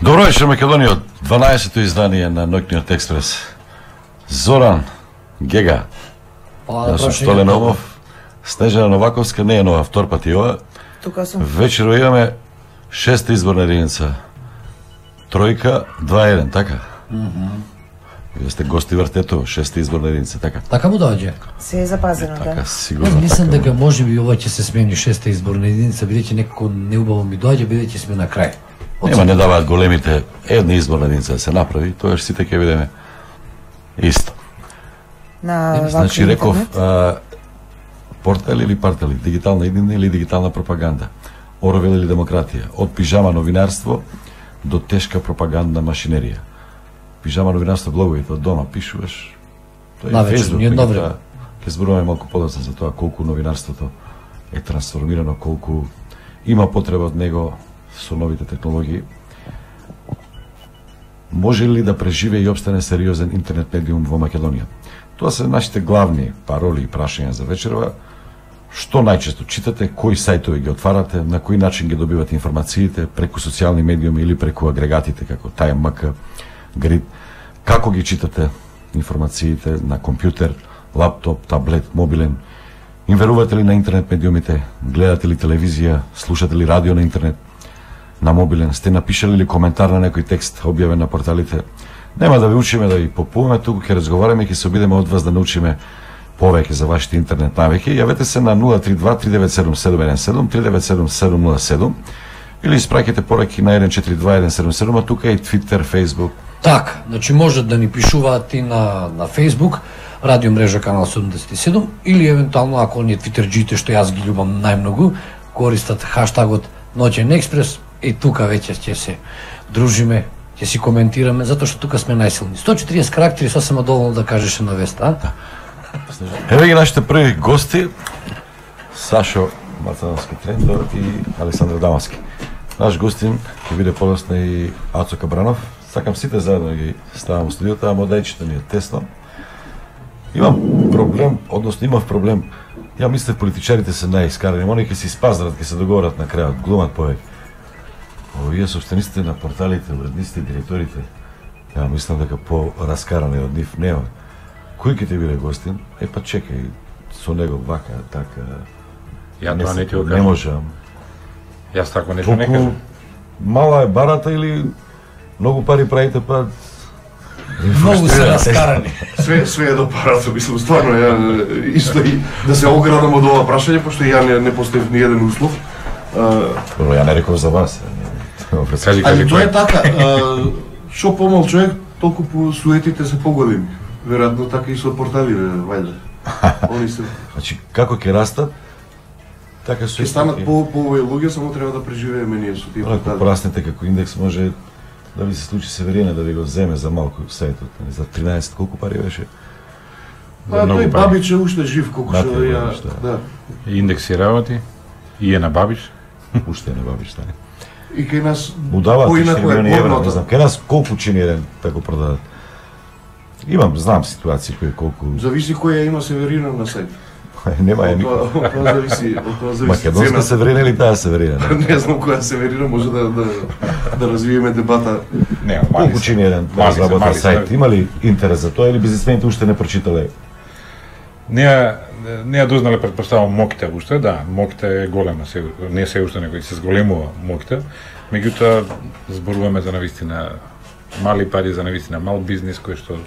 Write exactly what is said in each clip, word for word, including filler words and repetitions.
Добро вечер, Македонија, дванаесетто издание на Ноќниот експрес. Зоран Гега, јас сум Столе Номов, Снежана Новаковска, не е нова, втор пат и ова. Тука сум. Вечеро имаме шеста изборна единица. Тројка, два еден, така? Мхм. Вие сте гости вртето, шеста изборна единица, така? Така му доаѓа. Се е запазено, Така, да. сигурно. Јас мислам така. дека може би ова ќе се смени шеста изборна единица, бидејќи некако неубаво ми доаѓа, бидејќи сме на крај. Нема, не даваат големите една изборна единица да се направи, тоа сите ќе видиме исто. На Значи реков, а, портал или партали, дигитална иднина или дигитална пропаганда, Орвел или демократија, од пижама новинарство до тешка пропагандна машинерија. Пижама новинарство блоговите од дома пишуваш. Тоа е Навечер, Facebook, ни едно време. меѓутоа, ќе зборуваме малку подоцна за тоа колку новинарството е трансформирано, колку има потреба од него со новите технологии. Може ли да преживее и обстане сериозен интернет медиум во Македонија? Тоа се нашите главни пароли и прашања за вечерва. Што најчесто читате, кои сајтови ги отварате, на кој начин ги добивате информациите, преку социјални медиуми или преку агрегатите како ТМК, Грид, како ги читате информациите на компјутер, лаптоп, таблет, мобилен, им верувате ли на интернет медиумите, гледате ли телевизија, слушате ли радио на интернет, на мобилен, сте напишали ли коментар на некој текст објавен на порталите? Нема да ви учиме да ви попуваме, туку ќе разговараме и ќе се обидеме од вас да научиме повеќе за вашите интернет навики. Јавете се на нула три два три девет седум седум еден седум три девет седум седум нула седум или испраќате пораки на еден четири два еден седум седум, а тука е и Twitter, Facebook. Така, значи можат да ни пишуваат и на на Facebook, радио мрежа канал седумдесет и седум или евентуално ако оние твитерџиите што јас ги љубам најмногу, користат хаштагот Ноќен експрес и тука веќе ќе се дружиме, ќе си коментираме, затоа што тука сме најсилни. сто и четириесет карактери сосема доволно да кажеш на веста, а? Еве ги нашите први гости, Сашо Мацановски Трендо и Александар Дамаски. Наш гостин ќе биде подоцна и Ацо Кабранов. Сакам сите заедно да ги ставам во студиото, ама модајчето ни е тесно. Имам проблем, односно имав проблем. Ја мислев политичарите се најискарани, они ќе се испаздрат, ќе се договорат на крајот, глумат повеќе. Овие собствениците на порталите, уредниците и директорите, ја мислам дека по-раскарани од нив нема. Кој ќе ти биде гостин? Е па чекај, со него вака, така. Ја тоа не ти го Не кажам. можам. Јас тако нешто не Толку кажам. мала е барата или многу пари правите, па Многу се раскарани. Све све е до парата, мислам стварно ја исто и да се оградам од ова прашање, пошто ја не, не поставив ни еден услов. А, Добро, ја не реков за вас. Кажи, кажи Али тоа е кој. така. а, Шо помал човек, толку по суетите се поголеми. Веројатно така и со порталите, вајде. Они се Значи, како ќе растат, така со ќе станат по по овој луѓе, само треба да преживееме ние со тие Ако портали. пораснете како индекс, може да ви се случи Северина да ви го земе за малку сајтот, нели, за тринаесет колку пари беше? Па многу тој пари. Бабич е уште жив, колку Да, што тој ја, Бабич, да. да. Индекси работи и е на Бабиш. Уште не бабиш, стане. И кај нас Му даваат поинаку четири е милиони евра, не порното. знам. Кај нас колку чини еден да го продадат? Имам, знам ситуации кои колку Зависи која има Северина на сајт. нема е Од никој. тоа, од тоа зависи, од тоа зависи Македонска цената. Северина или таа Северина? не? Не знам која Северина, може да да да развиеме дебата. Не, Колку чини еден да мали се, разработен мали се. сајт? Има ли интерес за тоа или бизнисмените уште не прочитале? Не ја не ја дознале претпоставам Мокита уште, да, Мокита е голема, се, не се уште него се зголемува Мокита. Меѓутоа зборуваме за навистина мали пари, за навистина мал бизнис кој што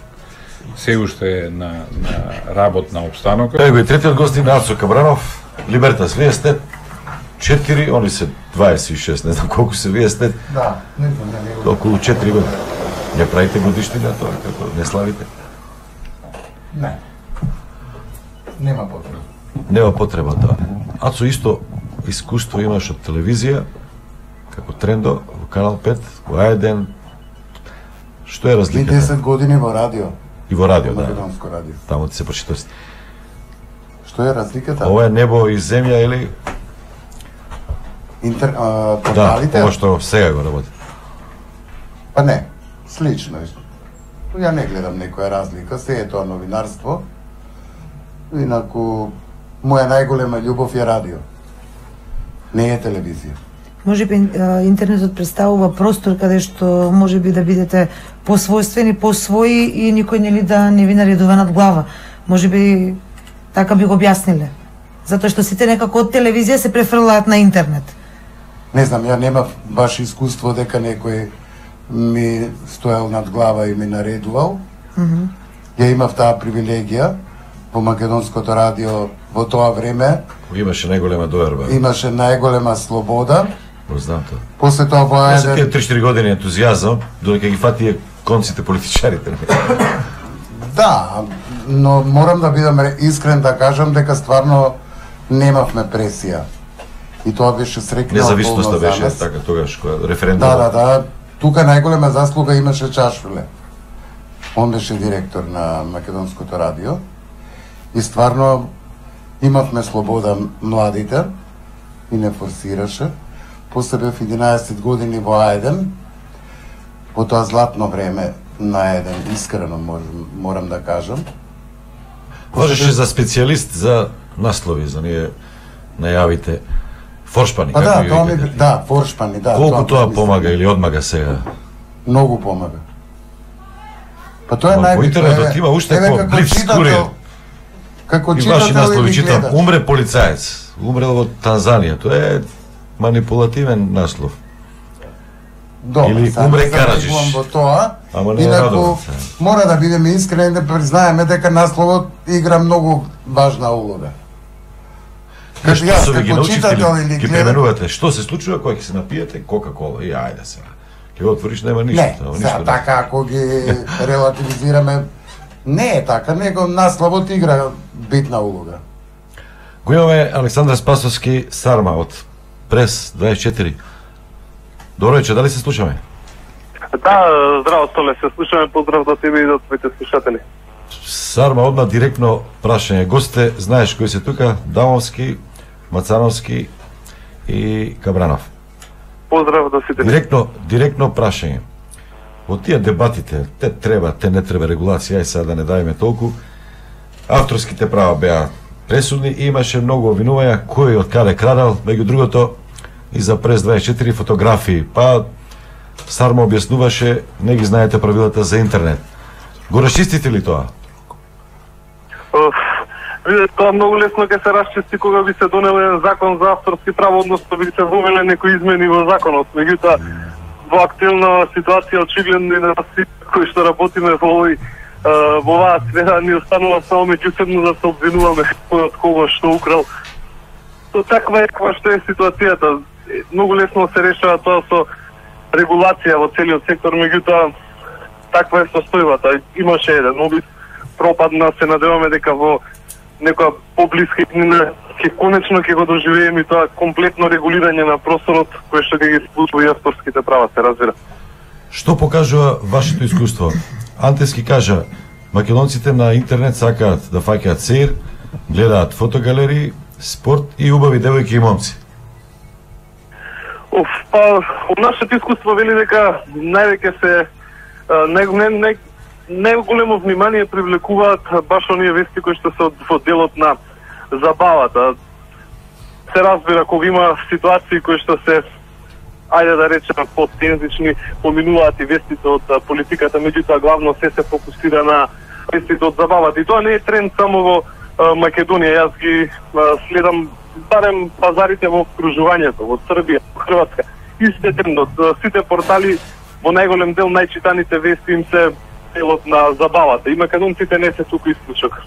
се уште е на на работна обстановка. Еве го и третиот гостин Ацо Кабранов, Либертас, вие сте четири, они се дваесет и шест, не знам колку се вие сте, Да, не знам, не, не го. околу четири години. Не правите годиштина тоа, како не славите? Не. Нема потреба. Нема потреба тоа. Ацо исто искуство имаш од телевизија, како Трендо, во Канал пет, во А еден. Што е разликата? десет години во радио, И во радио, да. македонско радио. Таму ти се прочитав. Што е разликата? Ова е небо и земја или Интер, а, да, порталите? ова што сега го работи. Па не, слично исто. Ја не гледам некоја разлика, се е тоа новинарство. Инаку, моја најголема љубов е радио. Не е телевизија. можеби интернетот представува простор каде што можеби да бидете посвојствени, посвои и никој нели да не ви наредува над глава. Можеби така би го објасниле. Затоа што сите некако од телевизија се префрлаат на интернет. Не знам, ја немав баш искуство дека некој ми стоел над глава и ми наредувал. Mm -hmm. Ја имав таа привилегија во Македонското радио во тоа време. Имаше најголема доверба. Имаше најголема слобода. Знам тоа. После тоа во еден... тие три-четири години ентузијазам, додека ги фати конците политичарите. Да, но морам да бидам искрен да кажам дека стварно немавме пресија. И тоа беше срекна независноста беше така тогаш кога референдум. Да, да, да. Тука најголема заслуга имаше Чашуле. Он беше директор на Македонското радио. И стварно имавме слобода младите и не форсираше. После бев единаесет години во А еден, во тоа златно време на А еден, искрено можем, морам да кажам. Важеше за специјалист за наслови, за ние најавите. Форшпани, па да, тоа ми, да, форшпани, да. Колку тоа, тоа помага или одмага сега? Многу помага. Па тоа е најбитно. Во интернетот има уште како блиц курир. Како читател и ваши наслови читам, умре полицаец, умрел во Танзанија, тоа е манипулативен наслов. Добре, или умре Караджиш. Во тоа, ама не инаку мора да бидеме искрени да признаеме дека насловот игра многу важна улога. Што јас ви ги научите или ги пременувате? Што се случува кога ќе се напиете Кока-кола и ајде сега. Ќе го отвориш, нема ништо. Не, сега така ако ги релативизираме, не е така, него насловот игра битна улога. Го имаме Александар Спасовски Сарма од Прес дваесет и четири. Добро вечер, дали се слушаме? Да, здраво Столе, се слушаме, поздрав до тебе и до твоите слушатели. Сарма, одма директно прашање. Госте, знаеш кои се тука? Дамовски, Мацановски и Кабранов. Поздрав до сите. Директно, директно прашање. Во тие дебатите, те треба, те не треба регулација, ај сега да не давиме толку. Авторските права беа пресудни и имаше многу обвинувања кој од каде крадал, меѓу другото и за Прес дваесет и четири фотографии. Па Сарма објаснуваше, не ги знаете правилата за интернет. Го расчистите ли тоа? Видете, тоа многу лесно ќе се расчисти кога би се донел еден закон за авторски права, односно би се вовеле некои измени во законот. Меѓутоа, во актуелна ситуација очигледно и на сите кои што работиме во овој во оваа сфера ни останува само меѓусебно да се обвинуваме кој од кого што украл. То таква е каква што е ситуацијата. Многу лесно се решава тоа со регулација во целиот сектор, меѓутоа таква е состојбата. Имаше еден обид, пропадна, се надеваме дека во некоја поблиска иднина ќе конечно ќе го доживееме тоа комплетно регулирање на просторот кој што ќе ги случува и авторските права, се разбира. Што покажува вашето искуство? Антески кажа, македонците на интернет сакаат да фаќаат сеир, гледаат фотогалерии, спорт и убави девојки и момци. Оф, па, од нашето искуство вели дека највеќе се не, не, не, не големо внимание привлекуваат баш оние вести кои што се од, од делот на забавата. Се разбира кога има ситуации кои што се, ајде да речеме, подтензични, поминуваат и вестите од политиката, меѓутоа главно се се фокусира на вестите од забавата. И тоа не е тренд само во Македонија. Јас ги следам барем пазарите во окружувањето, во Србија, во Хрватска. Истите трендот, сите портали во најголем дел најчитаните вести им се делот на забавата. И македонците не се туку исклучок.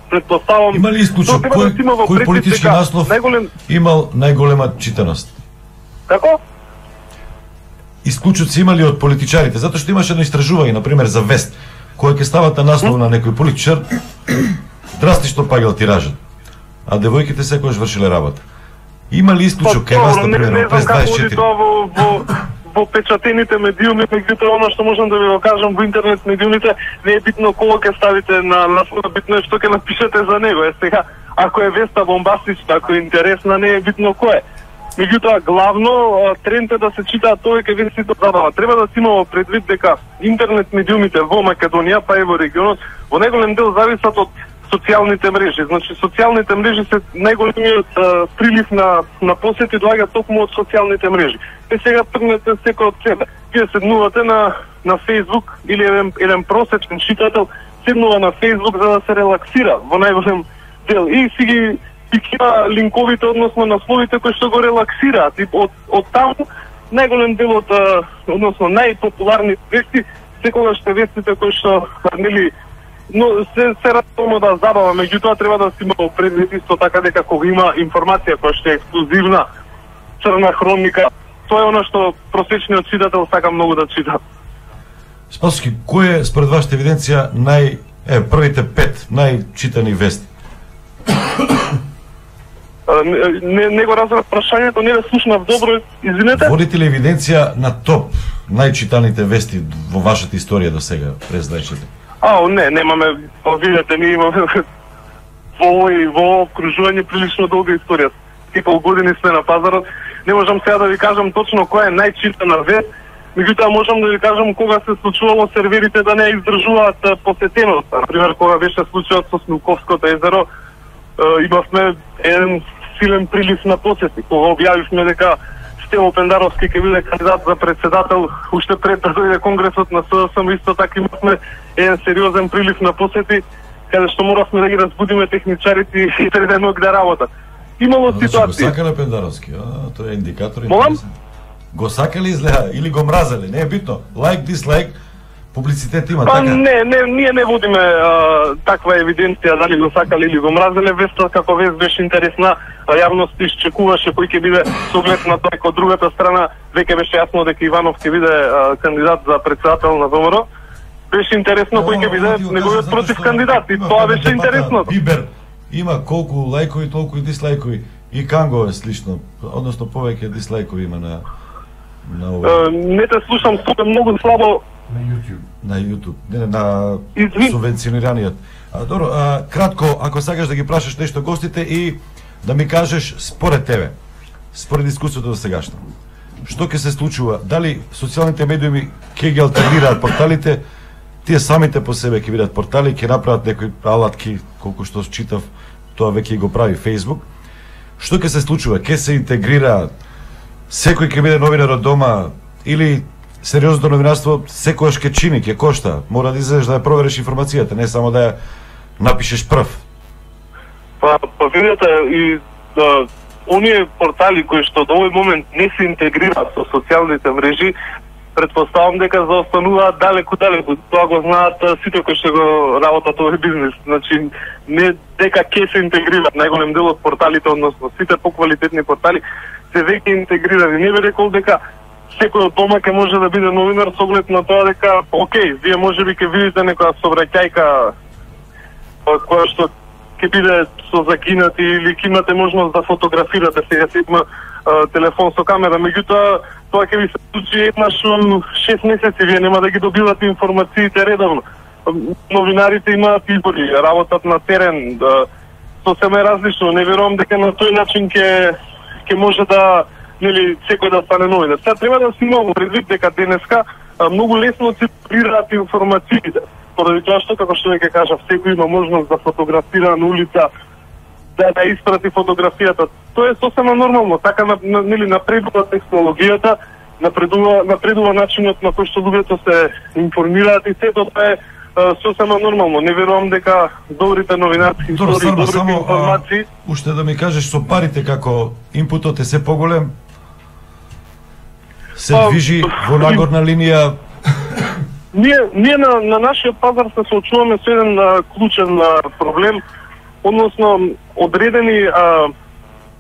Предпоставам... Има ли исклучок? Кој, да кој политички наслов најголем... имал најголема читаност? Како? Исклучоци имали од политичарите, затоа што имаше едно истражување, например, за вест, кој ќе ставате наслов на некој политичар, драстично паѓал тиражот, а девојките секогаш вршиле работа. Има ли исклучок кај вас, например, Прес дваесет и четири? Тоа во, во, во печатените медиуми, меѓутоа оно што можам да ви го кажам во интернет медиумите, не е битно кого ќе ставите на наслов, битно е што ќе напишете за него. Е сега, ако е веста бомбастична, ако е интересна, не е битно кој е. Меѓутоа, главно тренд е да се читаат тоа кај вестите забава. Треба да се има во предвид дека интернет медиумите во Македонија, па и во регионот, во најголем дел зависат од социјалните мрежи. Значи социјалните мрежи се најголемиот а, прилив на на посети доаѓа токму од социјалните мрежи. Е сега тргнете секој од себе. Вие седнувате на на Facebook или еден, еден просечен читател седнува на Facebook за да се релаксира во најголем дел и си ги пикира линковите, односно насловите кои што го релаксираат и од од таму најголем дел од односно најпопуларни вести секогаш се вестите кои што нели но се се радуваме да забава, меѓутоа треба да си имamo предвид исто така дека кога има информација која што е ексклузивна, црна хроника, тоа е она што просечниот читател сака многу да чита. Спасовски, кој е според вашата евиденција нај е првите пет најчитани вести? Не, не го разбрав прашањето, не да слушнав добро, извинете. Водите ли евиденција на топ најчитаните вести во вашата историја до сега през дваесет? А, не, немаме, видете, ние имаме во овој во окружување прилично долга историја. И пол години сме на пазарот. Не можам сега да ви кажам точно која е најчитана вест, меѓутоа можам да ви кажам кога се случувало серверите да не издржуваат посетеност. Например, кога беше случајот со Смилковското езеро, имавме еден силен прилив на посети. Кога објавивме дека Стево Пендаровски ќе биде кандидат за председател, уште пред да дојде конгресот на СДСМ, исто така имавме еден сериозен прилив на посети, каде што моравме да ги разбудиме техничарите и среде ног да работат. Имало значи, ситуации. Го сакале Пендаровски, а, тоа е индикатор. Молам? Го сакале изгледа или го мразеле, не е битно. Лайк, дислайк, публицитет има, па, така? Не, не, ние не водиме а, таква евиденција дали го сакале или го мразеле. Веста како вест беше интересна, а јавност изчекуваше кој ќе биде со оглед на тоа од другата страна. Веќе беше јасно дека Иванов ќе биде а, кандидат за председател на ВМРО. Беше интересно кој ќе биде неговиот против кандидат и тоа беше интересно. Бибер има колку лајкови, толку и дислајкови. И Канго е слично, односно повеќе дислајкови има на на ова. Не те слушам, супер многу слабо. На YouTube. На YouTube, не, на Извин. Субвенционираниот. А, добро, а, кратко, ако сакаш да ги прашаш нешто гостите и да ми кажеш според тебе, според дискусијата до сегашна, што ќе се случува? Дали социјалните медиуми ќе ги алтернираат порталите, тие самите по себе ќе бидат портали, ќе направат некои алатки, колку што читав, тоа веќе го прави Facebook. Што ќе се случува? Ќе се интегрираат? Секој ќе биде новинар од дома или сериозното новинарство секојаш ќе чини, ќе кошта. Мора да излезеш да ја провериш информацијата, не само да ја напишеш прв. Па, па видите, и да, оние портали кои што до овој момент не се интегрираат со социјалните мрежи, предпоставам дека заостануваат далеку далеку. Тоа го знаат сите кои што го работат овој бизнес. Значи не дека ќе се интегрираат, најголем дел од порталите, односно сите поквалитетни портали се веќе интегрирани. Не би рекол дека секој од дома ќе може да биде новинар со оглед на тоа дека, окей, вие можеби ќе видите некоја сообраќајка која што ќе биде со закинати или ќе имате можност да фотографирате, сега се има телефон со камера, меѓутоа тоа ќе ви се случи еднаш во шест месеци, вие нема да ги добивате информациите редовно. Новинарите имаат избори, работат на терен, да, сосема е различно. Не верувам дека на тој начин ќе ќе може да нели секој да стане новинар. Сега треба да си имamo предвид дека денеска а, многу лесно циркулираат информациите. Поради тоа што, како што веќе кажав, секој има можност да фотографира на улица, да да испрати фотографијата. Тоа е сосема нормално. Така на, на, нели напредува технологијата, напредува напредува начинот на кој што луѓето се информираат и сето тоа е а, сосема нормално. Не верувам дека добрите новинарски истории, добрите само, информации... А, уште да ми кажеш со парите како импутот е се поголем, се а, движи во нагорна линија. Ние, ние на, на нашиот пазар се соочуваме со еден а, клучен а, проблем, односно одредени а,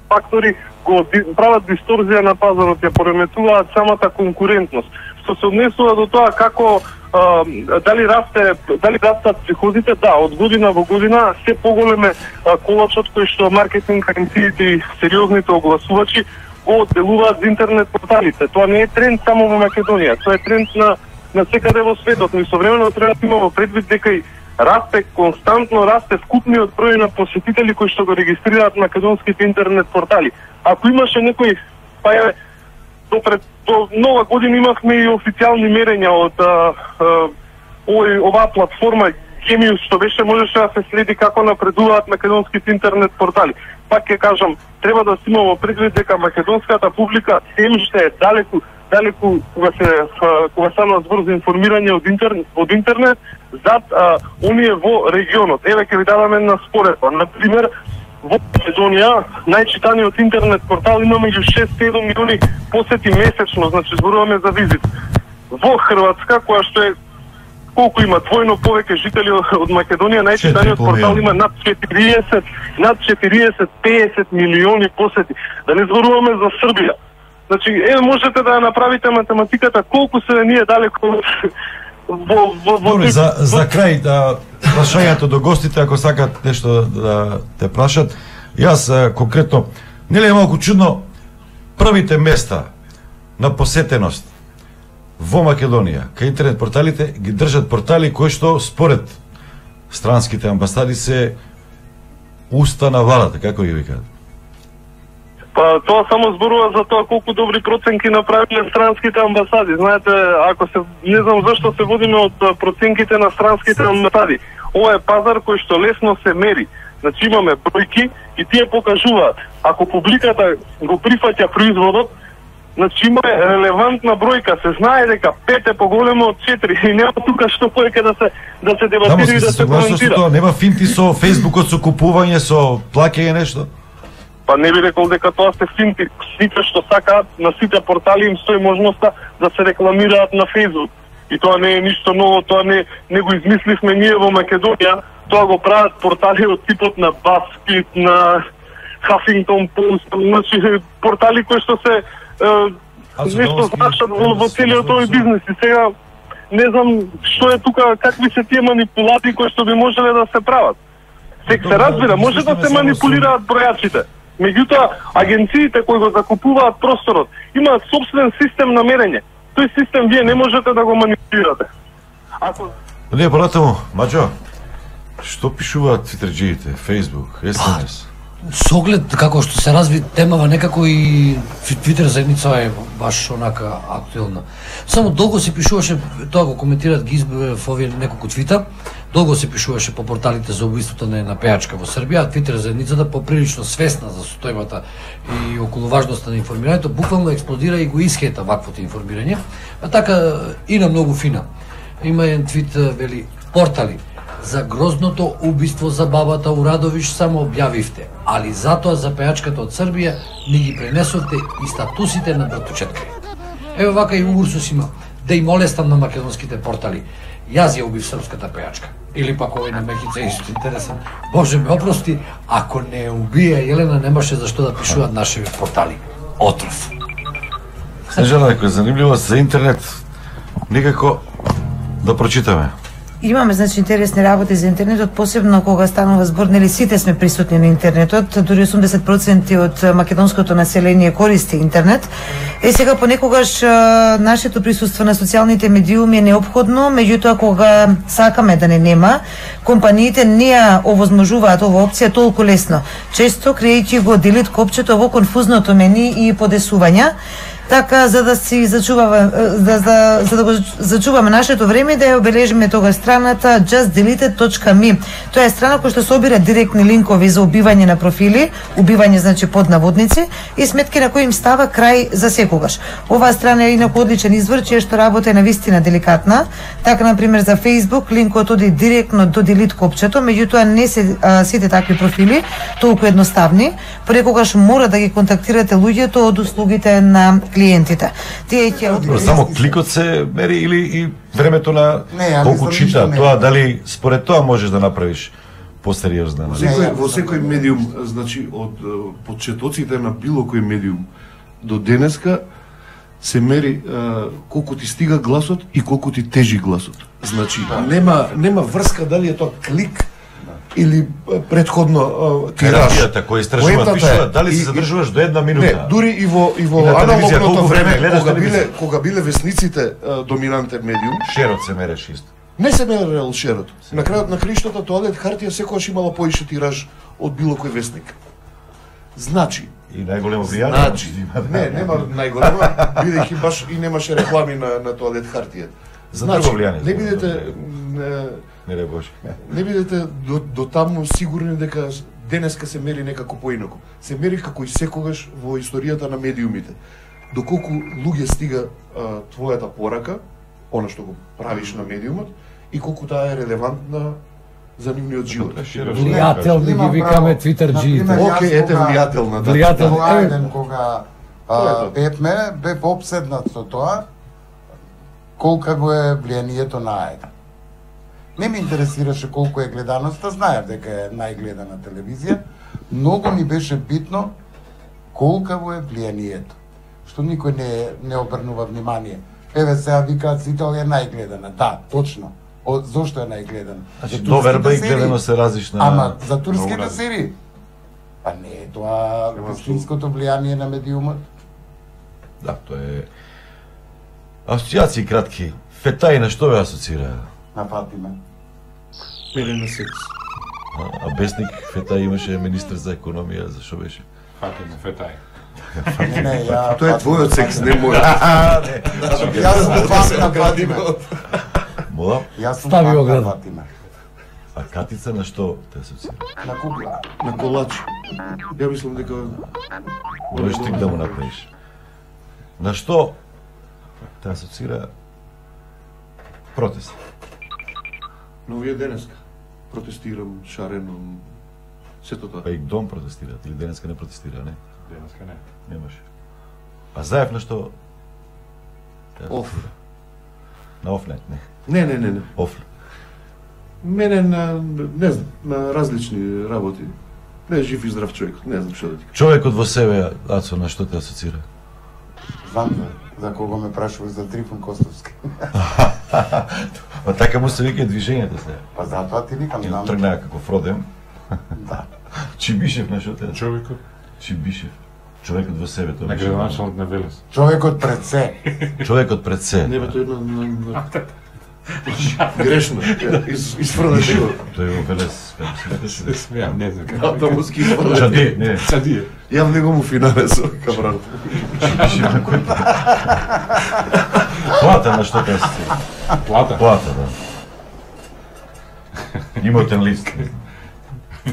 фактори го ди, прават дисторзија на пазарот, ја пореметуваат самата конкурентност. Што се однесува до тоа како а, дали расте, дали растат приходите, да, од година во година се поголеме а, колачот кој што маркетинг агенциите и сериозните огласувачи го одделуваат за интернет порталите. Тоа не е тренд само во Македонија, тоа е тренд на на секаде во светот, но и современо треба да имаме предвид дека и расте, константно расте вкупниот број на посетители кои што го регистрираат македонските интернет портали. Ако имаше некој, па е, до пред до нова година имавме и официјални мерења од а, а, овој оваа платформа схеми што беше можеше да се следи како напредуваат македонските интернет портали. Пак ќе кажам, треба да си имаме предвид дека македонската публика сем што е далеку далеку кога се кога станува збор за информирање од интернет, од интернет зад а, оние во регионот. Еве ќе ви дадам една споредба. На пример, во Македонија најчитаниот интернет портал има меѓу шест до седум милиони посети месечно, значи зборуваме за визит. Во Хрватска, која што е колку има двојно повеќе жители од Македонија, најчитаниот портал има над четириесет, над четириесет песет милиони посети. Да не зборуваме за Србија. Значи, е, можете да ја направите математиката колку се ние далеко во во во Добре, за за крај да прашањето до гостите, ако сакат нешто да те прашат. Јас конкретно, нели е малку чудно првите места на посетеност во Македонија, кај интернет порталите ги држат портали кои што според странските амбасади се уста на владата, како ги викаат? Па тоа само зборува за тоа колку добри проценки направиле странските амбасади. Знаете, ако се не знам зашто се водиме од проценките на странските амбасади. Ова е пазар кој што лесно се мери. Значи имаме бројки и тие покажуваат. Ако публиката го прифаќа производот, значи има релевантна бројка, се знае дека пет е поголемо од четири и нема тука што повеќе да се да се дебатира и да се коментира. Тоа нема финти со Фејсбукот, со купување, со плаќање нешто? Па не би рекол дека тоа се финти. Сите што сакаат, на сите портали им стои можноста да се рекламираат на Фејсбук. И тоа не е ништо ново, тоа не не го измисливме ние во Македонија, тоа го прават портали од типот на BuzzFeed, на Huffington Post, значи портали кои што се е, нешто значат во, во целиот овој бизнес. И сега не знам што е тука, какви се тие манипулации кои што би можеле да се прават. Сек се разбира, може да се манипулираат бројачите. Меѓутоа, агенциите кои го закупуваат просторот имаат собствен систем на мерење. Тој систем вие не можете да го манипулирате. Ако Не, понатаму, Маџо, што пишуваат твитерџиите, Facebook, ес ем ес? Со оглед како што се разви темава, некако и Твитер заедница е баш онака актуелна. Само долго се пишуваше, тоа го коментираат ги избив овие неколку твита, долго се пишуваше по порталите за убиството на една пејачка во Србија, а Твитер заедницата поприлично свесна за состојбата и околу важноста на информирањето, буквално експлодира и го исхета ваквото информирање, а така и на многу фина. Има еден твит, вели, портали за грозното убиство за бабата Урадовиш само објавивте, али затоа за пејачката од Србија ни ги пренесовте и статусите на братучетка. Еве вака и Урсус има, да им олестам на македонските портали. Јас ја убив српската пејачка. Или пак овој на Мехица е исто интересен. Боже ме опрости, ако не убија Јелена, немаше зашто да пишуваат нашите портали. Отров. Снежана, некоја занимљивост за интернет, никако да прочитаме. Имаме, значи, интересни работи за интернетот, посебно кога станува збор, нели сите сме присутни на интернетот, дури осумдесет проценти од македонското население користи интернет. Е, сега понекогаш нашето присуство на социјалните медиуми е неопходно, меѓутоа кога сакаме да не нема, компаниите не ја овозможуваат ова опција толку лесно. Често крејќи го делит копчето во конфузното мени и подесувања. Така, за да си зачуваме, за, за, за да го зачуваме нашето време, да ја обележиме тога страната just deleted точка me. Тоа е страна која што собира директни линкови за убивање на профили, убивање значи под наводници и сметки на кои им става крај за секогаш. Оваа страна е инаку одличен извор, чија што работа е навистина деликатна. Така, на пример, за Facebook линкот оди директно до делит копчето, меѓутоа не се а, сите такви профили толку едноставни, понекогаш мора да ги контактирате луѓето од услугите на клиентите. Тие ќе Само кликот се мери или и времето на Не, колку мислам, чита, ништо тоа не. дали според тоа можеш да направиш посериозна. Во секој, во секој медиум, значи од е, почетоците на било кој медиум до денеска се мери е, колку ти стига гласот и колку ти тежи гласот. Значи нема нема врска дали е тоа клик или е, предходно е, тираж. Терапијата која истражуваат, Поентата е- пишуваат дали се и- задржуваш до една минута. Не, дури и во и во И на телевизија, аналогното колку време време, гледаш кога биле телевизија? кога биле весниците е, доминантен медиум, Шерот се мереше исто. не се мерел шерот. На крајот на криштата тоалет хартија секогаш имала поише тираж од било кој весник. Значи, И најголемо влијание. Значи, не, нема најголема, бидејќи баш и немаше реклами на, на тоалет хартија. За друго влијание. Не бидете не, не дай Боже. Не бидете до, до таму сигурни дека денеска се мери некако поинаку. Се мери како и секогаш во историјата на медиумите. Доколку луѓе стига а, твојата порака, она што го правиш на медиумот, и колку таа е релевантна за нивниот живот. Влијателни ги викаме твитерџиите. Океј, ете влијателна. Да. Влијателни. Тоа еден кога а, бевме, бев обседнат со тоа, колка го е влијанието на АЕД. Не ме интересираше колку е гледаноста, знаев дека е најгледана телевизија, многу ми беше битно колка го е влијанието, што никој не, не обрнува внимание. Еве сега викаат сите е најгледана, да, точно. О, зошто е најгледана? Значи, доверба и гледаност се различна. Ама, за турските серии? Па не е тоа вистинското влијание на медиумот? Да, тоа е... Асоцијации кратки. Фетај на што ве асоцира? На Фатиме. Мене на секс. А, а Бесник Фетај имаше министр за економија, за што беше? Фатиме, Фетај. Не, не, ја... Тоа е твојот секс, не мој. Јас сум фан на Фатиме. Мола? Јас сум Стави фан на ограда. Фатиме. А Катица на што те асоцира? На кукла. На колач. Ја мислам дека... Можеш ти да му направиш. На што те асоцира протест? Но вие денеска протестирам, шарено, сето тоа. Па и дом протестираат, или денеска не протестира, не? Денеска не. Немаше. А Заев на што? те Оф. асоцира? На офнет, не. Не, не, не, не. Оф. Мене на, не знам, на различни работи. Не е жив и здрав човек, не знам што да ти кажам. Човекот во себе, Ацо, на што те асоцира? Знам за, за кого ме прашуваш, за Трифон Костовски. Па така му се вика движењето се. Па затоа ти викам, знам. Тргнаа како Фродем. Да. Чибишев на што те? Човекот Чибишев. Човекот во себе тоа. на беше градоначалник на Велес. Човекот пред се. важно. Човекот пред се. Не бе, тоа е на... на, на... Грешно. Из, изфрлаш го. Тој во Велес, како се викаше? Смеам, не знам Да, како. да му ски изфрлаш. Чади, не. Чадие. Јав него му финале со кабран. Чибишев на кој? Плата на што те асоцира? Плата. Плата, да. Имотен лист.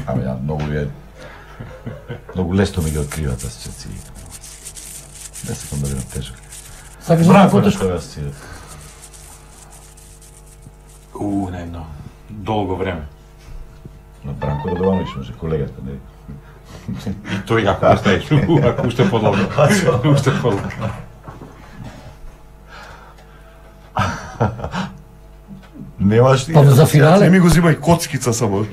Ама ја многу е... Многу лесно ми ги откриваат асоциации. Не се да бидам тежок. Сакаш да Бранко на потешко? што ве асоцира? У, не едно. Долго време. На Бранко Радовановиќ може, колегата, не? И тој ако оставиш, ако уште подолго. Уште подолго. Немаш ти? Па за Не финале? ми го зимај коцкица само.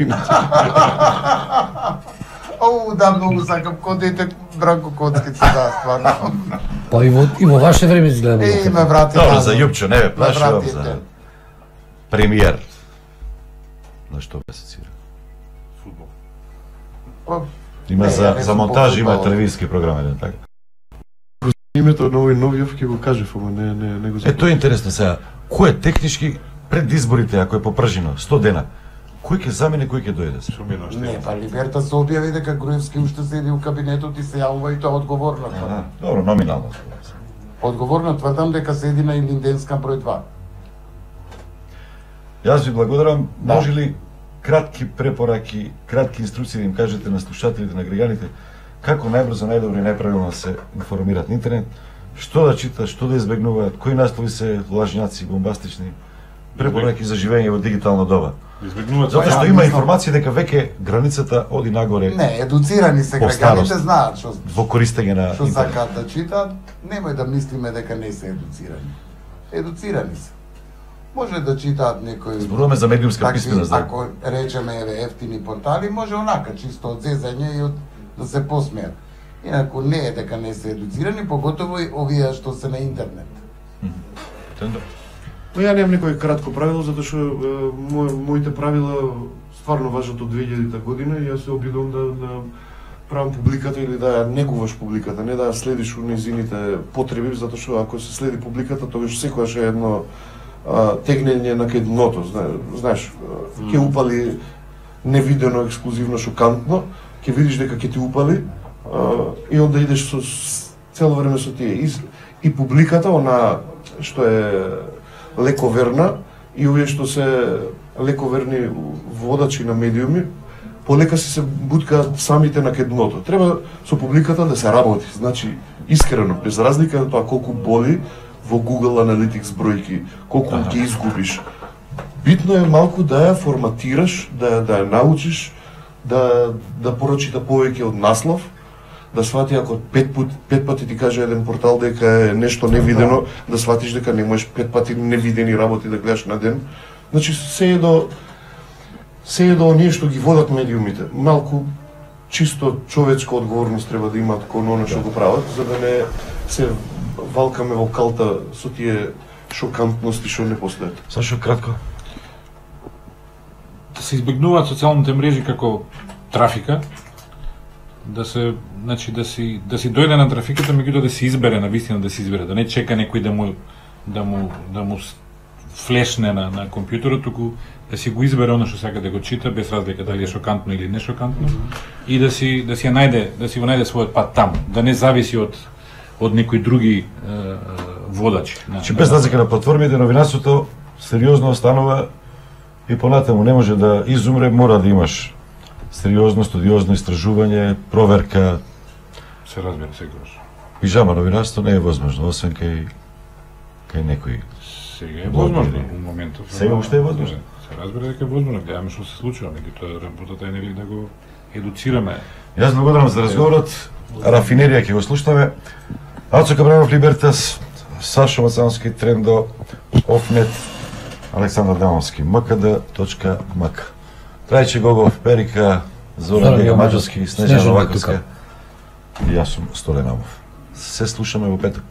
Оу, да, многу сакам кod дете Бранко Коцкица, да, стварно. Па и во, и во ваше време изгледа. Е, ме врати Добро, назад. за Јупчо, не бе, Ме плашувам врати за ден. премиер. На што ве асоцира? Фудбал. Па, Има Не, за, ја не за сум монтаж, по има фудбал. телевизиски програми, не така? Името на овој Новиов ќе го кажев, ама не, не, не го Е, знам. тоа е интересно сега. Кој е технички пред изборите, ако е попржено, сто дена, кој ќе замени, кој ќе дојде се? Шумино што не, е. па Либерта се објави дека Груевски уште седи у кабинетот и се јавува и тоа одговорно. А, тврдам. добро, номинално. Одговорно тврдам дека седи на Илинденска број два. Јас ви благодарам. Да. Може ли кратки препораки, кратки инструкции да им кажете на слушателите, на граѓаните, како најбрзо, најдобро и најправилно се информираат на интернет, што да читат, што да избегнуваат, кои наслови се лажњаци, бомбастични, препораки за живење во дигитална доба. Избегнуваат Затоа Па, што ја има мислам- информација дека веќе границата оди нагоре Не, едуцирани се По граѓаните, старост. знаат што во користење на што интернет. сакаат да читаат, немој да мислиме дека не се едуцирани. Едуцирани се. Може да читаат некои Зборуваме за медиумска такви, писменост, да. ако речеме еве ефтини портали, може онака чисто од зезање и од да се посмеат. Инаку не е дека не се едуцирани, поготово и овие што се на интернет. Тендо. Но ја немам некој кратко правило, затоа што е, мој, моите правила стварно важат од две илјадета година и јас се обидувам да, да правам публиката или да ја негуваш публиката, не да ја следиш у незините потреби, затоа што ако се следи публиката, тогаш секогаш е едно а, тегнење на кај дното, зна- знаеш, а, ќе упали невидено, ексклузивно, шокантно, ќе видиш дека ќе ти упали а, и онда идеш со с- цело време со тие. И, и публиката, она што е лековерна и овие што се лековерни водачи на медиуми, полека си се буткаат самите на кедното. Треба со публиката да се работи, значи искрено, без разлика на тоа колку боли во Google Analytics бројки, колку ага. ги изгубиш. Битно е малку да ја форматираш, да да ја научиш, да да прочита повеќе од наслов, да свати ако пет пат пет пати ти каже еден портал дека е нешто невидено, да сватиш дека не можеш пет пати невидени работи да гледаш на ден. Значи се е до се е до оние што ги водат медиумите. Малку чисто човечка одговорност треба да имаат кон оно што го прават, за да не се валкаме во калта со тие шокантности што не постојат. Сашо, кратко. Да се избегнуваат социјалните мрежи како трафика, да се, значи да си да си дојде на трафиката, меѓутоа да се избере, на вистина да се избере, да не чека некој да му да му да му флешне на на компјутерот, туку да си го избере оно што сака да го чита, без разлика дали е шокантно или не шокантно, и да си да си ја најде, да си го најде својот пат таму, да не зависи од од некои други е, водачи. Значи без разлика на платформите, новинарството сериозно останува и понатаму не може да изумре, мора да имаш сериозно, студиозно истражување, проверка. Се разбира секогаш. Пижама новинарство не е возможно, освен кај кај некои. Сега е возможно у моментов. Сега уште е возможно. Се разбира дека е возможно, гледаме што се случува, меѓутоа работата е нели да го едуцираме. Јас благодарам за разговорот. Рафинерија ќе го слушнеме. Ацо Кабранов, Либертас, Сашо Мацановски, Трендо, Офнет, Александар Дамовски, мкд точка мк. Трајче Гогов, Перика, Зоран Дега Маđarски, Снежана Новаковска и јас сум Столе Намов. Се слушаме во петок.